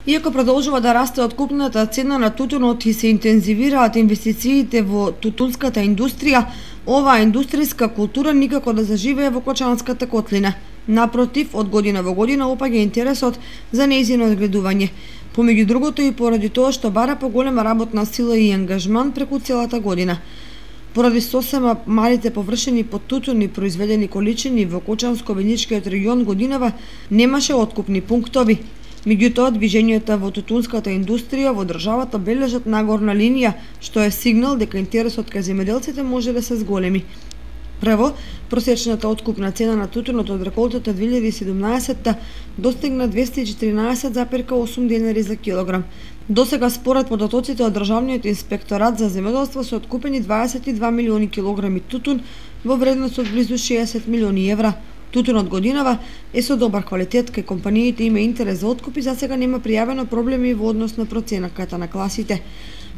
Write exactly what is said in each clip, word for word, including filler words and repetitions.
Иако продолжува да расте откупната цена на тутунот и се интензивираат инвестициите во тутунската индустрија, оваа индустријска култура никако да заживее во Кочанската котлина. Напротив, од година во година опаѓа интересот за нејзино одгледување. Помеѓу другото и поради тоа што бара поголема работна сила и ангажман преку целата година. Поради сосема малите површини под тутун и произведени количини во Кочанско-Виничкиот регион годинава немаше откупни пунктови. Меѓутоа, движењата во тутунската индустрија во државата бележат нагорна линија, што е сигнал дека интересот кај земјоделците може да се зголеми. Прво, просечната откупна цена на тутунот од реколтата две илјади и седумнаесетта достигна двесте и четиринаесет зарез осум денари за килограм. Досега, според податоците од Државниот инспекторат за земјоделство, се откупени дваесет и два милиони килограми тутун во вредност од близу шеесет милиони евра. Тутунот годинава е со добар квалитет, кај компаниите има интерес за откуп и засега нема пријавено проблеми во однос на проценката на класите.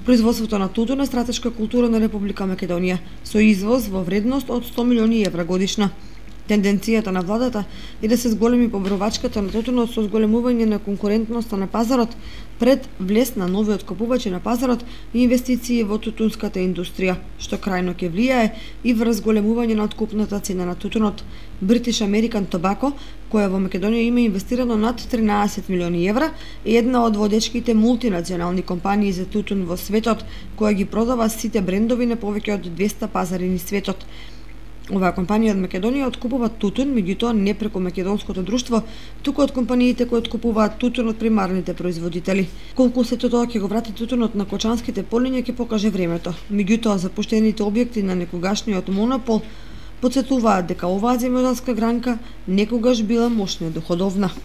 Производството на тутун е стратешка култура на Република Македонија, со извоз во вредност од сто милиони евра годишно. Тенденцијата на владата е да се зголеми побровачката на тутунот со зголемување на конкурентноста на пазарот пред влез на нови откупувачи на пазарот и инвестиции во тутунската индустрија, што крајно ќе влијае и врз зголемување на откупната цена на тутунот. British American Tobacco, која во Македонија има инвестирано над тринаесет милиони евра, е една од водечките мултинационални компании за тутун во светот, која ги продава сите брендови на повеќе од двесте пазари низ светот. Оваа компанија од Македонија откупува тутун, меѓутоа не преку македонското друштво, туку од компаниите кои откупуваат тутун од примарните производители. Колку сето тоа ќе го врати тутунот на кочанските полиња ќе покаже времето. Меѓутоа, запуштените објекти на некогашниот монопол потсетуваат дека оваа земјоделска гранка некогаш била мощно доходовна.